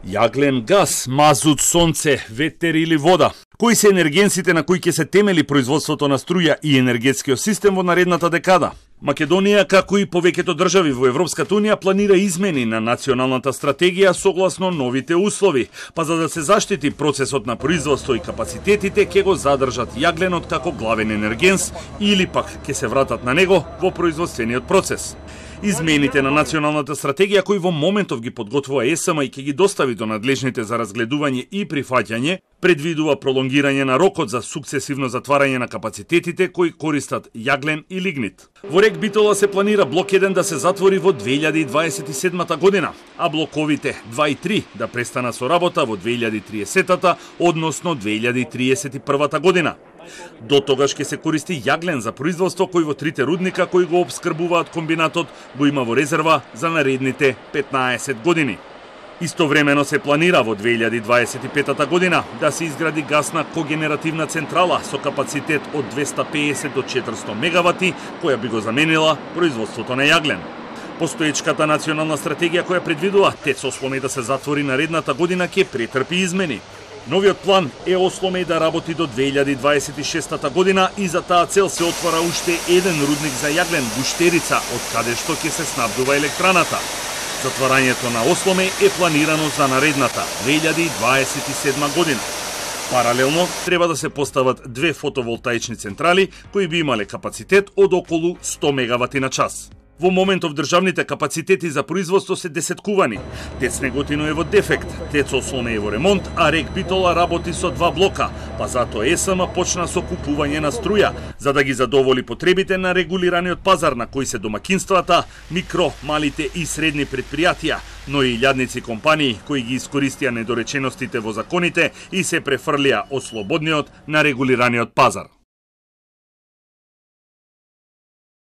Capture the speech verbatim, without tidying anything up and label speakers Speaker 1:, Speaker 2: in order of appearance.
Speaker 1: Јаглен, газ, мазут, сонце, ветер или вода. Кои се енергенсите на кои ќе се темели производството на струја и енергетскиот систем во наредната декада? Македонија, како и повеќето држави во Европската унија, планира измени на националната стратегија согласно новите услови, па за да се заштити процесот на производство и капацитетите, ќе го задржат јагленот како главен енергенс или пак ќе се вратат на него во производствениот процес. Измените на националната стратегија кои во моментов ги подготвува ЕСМ и ќе ги достави до надлежните за разгледување и прифаќање, предвидува пролонгирање на рокот за сукцесивно затварање на капацитетите кои користат јаглен и лигнит. Во РЕК Битола се планира блок еден да се затвори во две илјади дваесет и седмата година, а блоковите два и три да престанат со работа во две илјади триесетата, односно две илјади триесет и првата година. До тогаш ќе се користи јаглен за производство кој во трите рудника кои го обскрбуваат комбинатот го има во резерва за наредните петнаесет години. Истовремено се планира во две илјади дваесет и петата година да се изгради гасна когенеративна централа со капацитет од двеста пеесет до четиристо мегавати, која би го заменила производството на јаглен. Постоечката национална стратегија која предвидува ТЕЦ Осломеј да се затвори наредната година ќе претрпи измени. Новиот план е Осломеј да работи до две илјади дваесет и шестата година и за таа цел се отвора уште еден рудник за јаглен, Гуштерица, од каде што ќе се снабдува електраната. Затварањето на Осломеј е планирано за наредната две илјади дваесет и седма година. Паралелно треба да се постават две фотоволтаични централи кои би имале капацитет од околу сто мегавати на час. Во моментов државните капацитети за производство се десеткувани. ТЕЦ Неготино е во дефект, ТЕЦ Осломеј е во ремонт, а РЕК Битола работи со два блока, па затоа ЕСМ почна со купување на струја, за да ги задоволи потребите на регулираниот пазар на кои се домакинствата, микро, малите и средни предпријатија, но и илјадници компании кои ги искористија недореченостите во законите и се префрлија од слободниот на регулираниот пазар.